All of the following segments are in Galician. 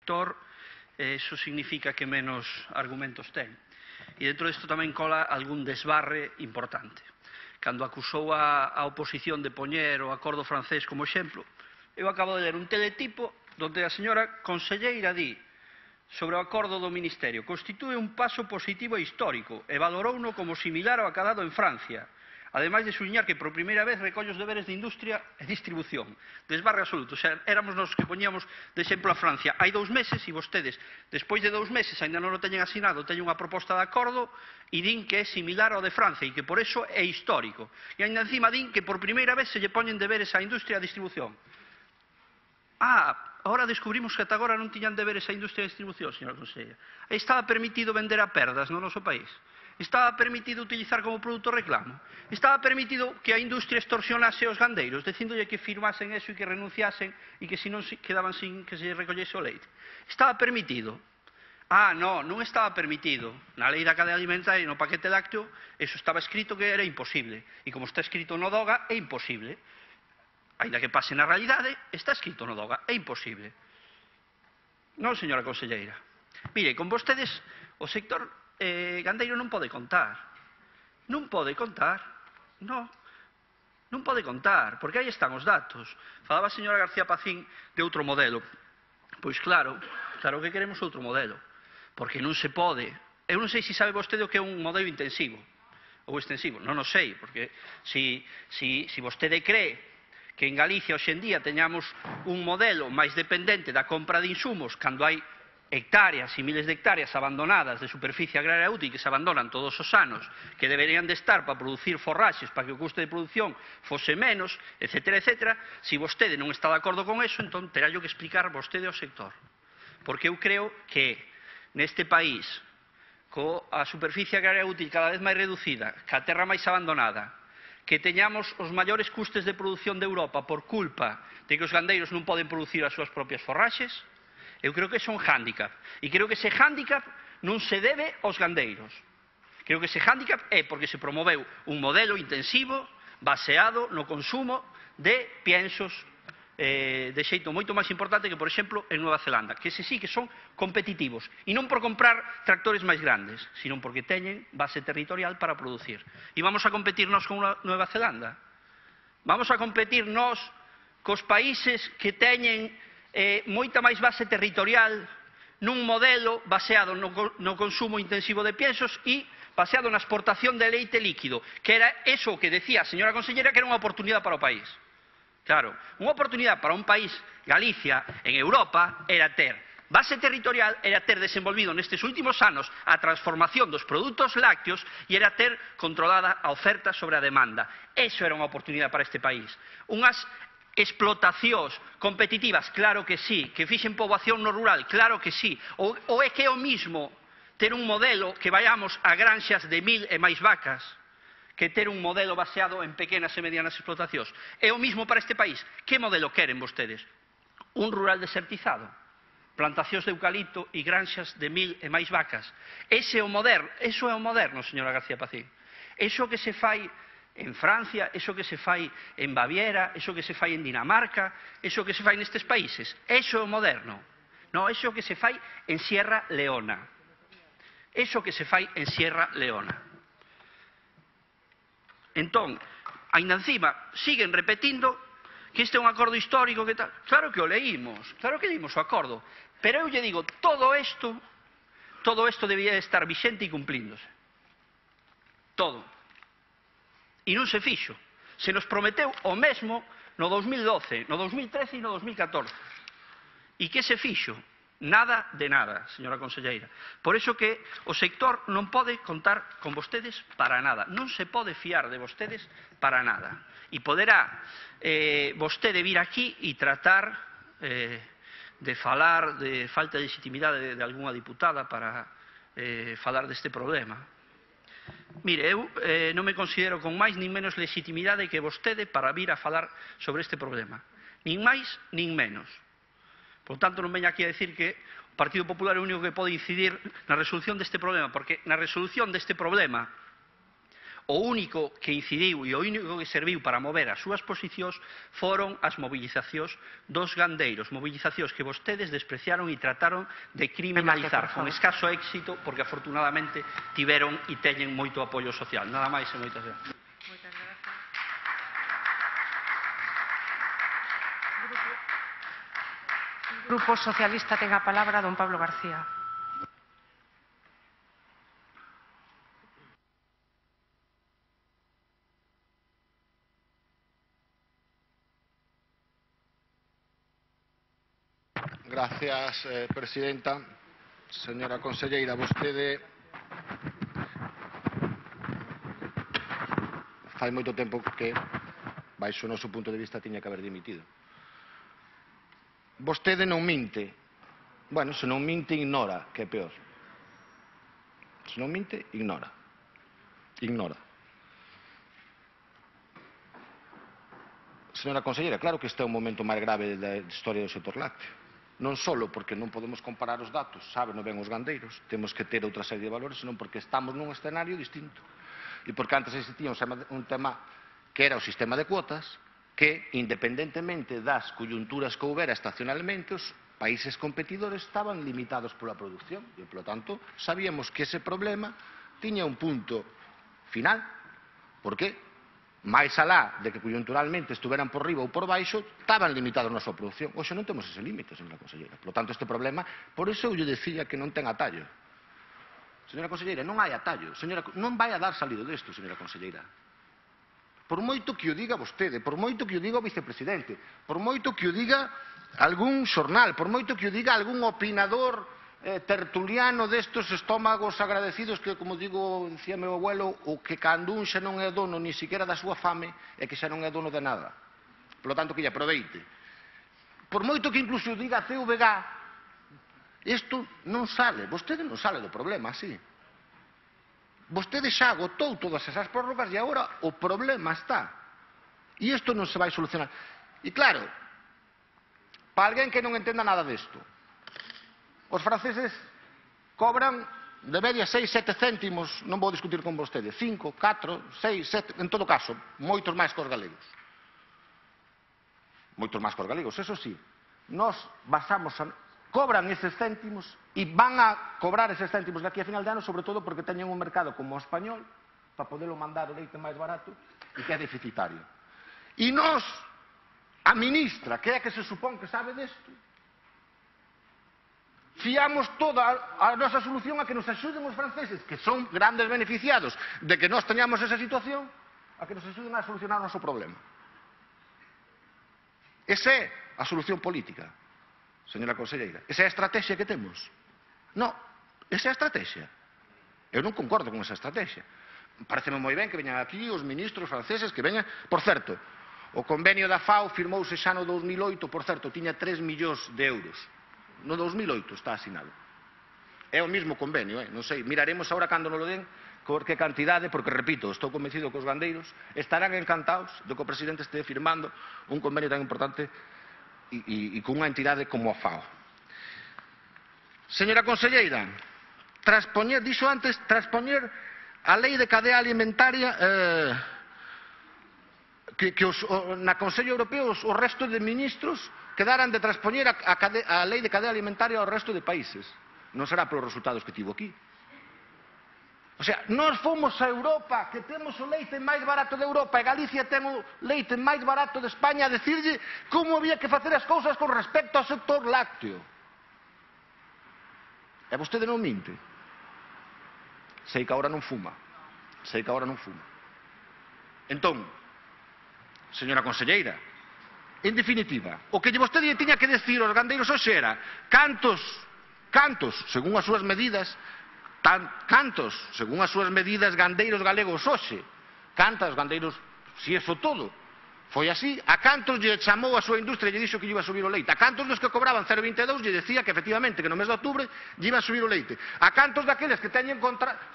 sector, eso significa que menos argumentos ten. E dentro disto tamén cola algún desbarre importante. Cando acusou a oposición de poñer o acordo francés como exemplo, eu acabo de ler un teletipo onde a señora conselleira di sobre o acordo do Ministerio: constitúe un paso positivo e histórico e valorouno como similar ao acadado en Francia, ademais de subliñar que por primeira vez recolle os deberes de industria e distribución. Desbarre absoluto. O sea, éramos nos que poñíamos de exemplo a Francia hai 2 meses e vostedes, despois de 2 meses, ainda non o teñen asinado, teñen unha proposta de acordo e din que é similar ao de Francia e que por eso é histórico. E ainda encima din que por primeira vez se lle poñen deberes á industria e a distribución. Ahora descubrimos que ata agora non tiñan deberes a industria de distribución, señora conselleira. Estaba permitido vender a perdas no noso país? Estaba permitido utilizar como produto reclamo? Estaba permitido que a industria extorsionase aos gandeiros, dicíndolle que firmasen eso e que renunciasen e que se non quedaban sin que se recollese o leite? Estaba permitido? Non estaba permitido. Na lei da cadea alimentaria e no paquete lácteo, eso estaba escrito que era imposible. E como está escrito no DOGA, é imposible. Ainda que pase na realidade, está escrito no DOGA, é imposible. Non, señora conselleira. Mire, con vostedes o sector gandeiro non pode contar. Non pode contar. Non pode contar, porque aí están os datos. Falaba a señora García Pacín de outro modelo. Pois claro que queremos outro modelo, porque non se pode. Eu non sei se sabe vostede o que é un modelo intensivo ou extensivo. Non o sei, porque se vostede cree que en Galicia hoxendía teñamos un modelo máis dependente da compra de insumos cando hai hectáreas e miles de hectáreas abandonadas de superficie agraria útil que se abandonan todos os anos, que deberían de estar para producir forraxes para que o custe de produción fose menos, etcétera, etcétera. Se vostede non está de acordo con eso, entón terá que explicar vostede ao sector. Porque eu creo que neste país, coa superficie agraria útil cada vez máis reducida, ca terra máis abandonada, que teñamos os maiores custes de produción de Europa por culpa de que os gandeiros non poden producir as súas propias forraxes, eu creo que é un hándicap. E creo que ese hándicap non se debe aos gandeiros. Creo que ese hándicap é porque se promoveu un modelo intensivo baseado no consumo de piensos de xeito moito máis importante que, por exemplo, en Nueva Zelanda, que ese sí que son competitivos, e non por comprar tractores máis grandes, sino porque teñen base territorial para producir. E vamos a competir nós con Nueva Zelanda? Vamos a competir nós cos países que teñen moita máis base territorial nun modelo baseado no consumo intensivo de piensos e baseado na exportación de leite líquido, que era eso que decía a señora consellera que era unha oportunidade para o país. Claro, unha oportunidade para un país, Galicia, en Europa, era ter base territorial, era ter desenvolvido nestes últimos anos a transformación dos produtos lácteos e era ter controlada a oferta sobre a demanda. Eso era unha oportunidade para este país. Unhas explotacións competitivas, claro que sí. Que fixen poboación no rural, claro que sí. Ou é que é o mismo ter un modelo que vayamos a granxas de 1000 e máis vacas que ter un modelo baseado en pequenas e medianas explotacións. É o mismo para este país. Que modelo queren vostedes? Un rural desertizado? Plantacións de eucalipto e granxas de 1000 e máis vacas? Ese é o moderno. Eso é o moderno, señora García Pacín. Eso que se fai en Francia, eso que se fai en Baviera, eso que se fai en Dinamarca, eso que se fai nestes países. Eso é o moderno. Non, eso que se fai en Sierra Leona. Eso que se fai en Sierra Leona. Entón, ainda encima, siguen repetindo que este é un acordo histórico, que tal. Claro que o leímos o acordo, pero eu lle digo, todo isto debía estar vixente e cumplíndose. Todo. E non se fixo. Se nos prometeu o mesmo no 2012, no 2013 e no 2014. E que se fixo? Nada de nada, señora conselleira. Por iso que o sector non pode contar con vostedes para nada. Non se pode fiar de vostedes para nada. E poderá vostede vir aquí e tratar de falar de falta de legitimidade de algunha diputada para falar deste problema. Mire, eu non me considero con máis nin menos legitimidade que vostede para vir a falar sobre este problema. Nin máis, nin menos. Por tanto, non veña aquí a decir que o Partido Popular é o único que pode incidir na resolución deste problema, porque na resolución deste problema O único que incidiu e o único que serviu para mover as súas posicións foron as mobilizacións dos gandeiros, mobilizacións que vostedes despreciaron e trataron de criminalizar con escaso éxito, porque afortunadamente tiveron e teñen moito apoio social. Nada máis e moitas gracias. Grupo Socialista ten a palabra don Pablo García. Gracias, presidenta. Señora conselleira, vostede fai moito tempo que, baixo o noso punto de vista, tiña que haber dimitido. Vostede non minte. Bueno, se non minte, ignora, que é peor. Se non minte, ignora. Ignora. Señora conselleira, claro que este é un momento máis grave da historia do sector lácteo. Non só porque non podemos comparar os datos, sábeno ben os gandeiros, temos que ter outra serie de valores, senón porque estamos nun escenario distinto. E porque antes existía un tema que era o sistema de cuotas, que, independentemente das coyunturas que houbera estacionalmente, os países competidores estaban limitados pola produción. E, polo tanto, sabíamos que ese problema tiña un punto final. Por que? máis alá de que coyunturalmente estuveran por riba ou por baixo, estaban limitados na súa produción. Hoxe non temos ese límite, señora conselleira. Por lo tanto, este problema, por iso eu lle decía que non ten atallo. Señora conselleira, non hai atallo. Non vai a dar salido desto, señora conselleira. Por moito que o diga vostede, por moito que o diga o vicepresidente, por moito que o diga algún xornal, por moito que o diga algún opinador tertuliano destos estómagos agradecidos que, como digo, dicía meu abuelo, o que cando un xa non é dono ni siquiera da súa fame é que xa non é dono de nada. Por lo tanto, que lle aproveite. Por moito que incluso diga a CVG, isto non sale, vostede non sale do problema, así. Vostede xa agotou todas esas prórrogas e agora o problema está. E isto non se vai solucionar. E claro, para alguén que non entenda nada disto, os franceses cobran de media 6-7 céntimos, non vou discutir con vostede, 5, 4, 6, 7, en todo caso, moitos máis que os galegos. Moitos máis que os galegos, eso sí. Nós cobran eses céntimos e van a cobrar eses céntimos de aquí a final de ano, sobre todo porque teñen un mercado como o español, para poderlo mandar o leite máis barato, e que é deficitario. E nós, a ministra, que é a que se supón que sabe desto, fiamos toda a nosa solución a que nos axuden os franceses, que son grandes beneficiados de que nós teñamos esa situación, a que nos axuden a solucionar o noso problema. Esa é a solución política, señora conselleira. Esa é a estrategia que temos. Non, esa é a estrategia. Eu non concordo con esa estrategia. Pareceme moi ben que veñan aquí os ministros franceses, que veñan. Por certo, o convenio da FAO firmouse xa no 2008, por certo, tiña 3 millóns de euros. No 2008 está asinado. É o mesmo convenio, non sei, miraremos agora cando nos lo den por que cantidade, porque, repito, estou convencido que os gandeiros estarán encantados de que o presidente este firmando un convenio tan importante e con unha entidade como a FAO. Señora conselleira, dixo antes, transpoñer a lei de cadea alimentaria que na Consello Europeo o resto de ministros quedaran de transpoñer a lei de cadea alimentaria ao resto de países. Non será polos resultados que tivo aquí. O sea, nós fomos a Europa, que temos o leite máis barato de Europa, e Galicia ten o leite máis barato de España, a decirlle como había que facer as cousas con respecto ao sector lácteo. E vostede non minte. Sei que agora non fuma. Sei que agora non fuma. Entón, señora conselleira, en definitiva, o que vostede tiña que decir aos gandeiros hoxe era cantos, según as súas medidas, gandeiros galegos hoxe, cantas gandeiros, si eso todo, foi así, a cantos lle chamou a súa industria e lle dixo que lle iba a subir o leite, a cantos dos que cobraban 0,22 lle decía que efectivamente que no mes de outubro lle iba a subir o leite, a cantos daqueles que teñen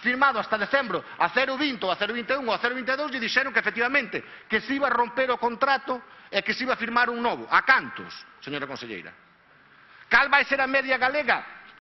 firmado hasta decembro a 0,20 ou a 0,21 ou a 0,22 lle dixeron que efectivamente que se iba a romper o contrato e que se iba a firmar un novo. A cantos, señora conselleira? Cal vai ser a media galega?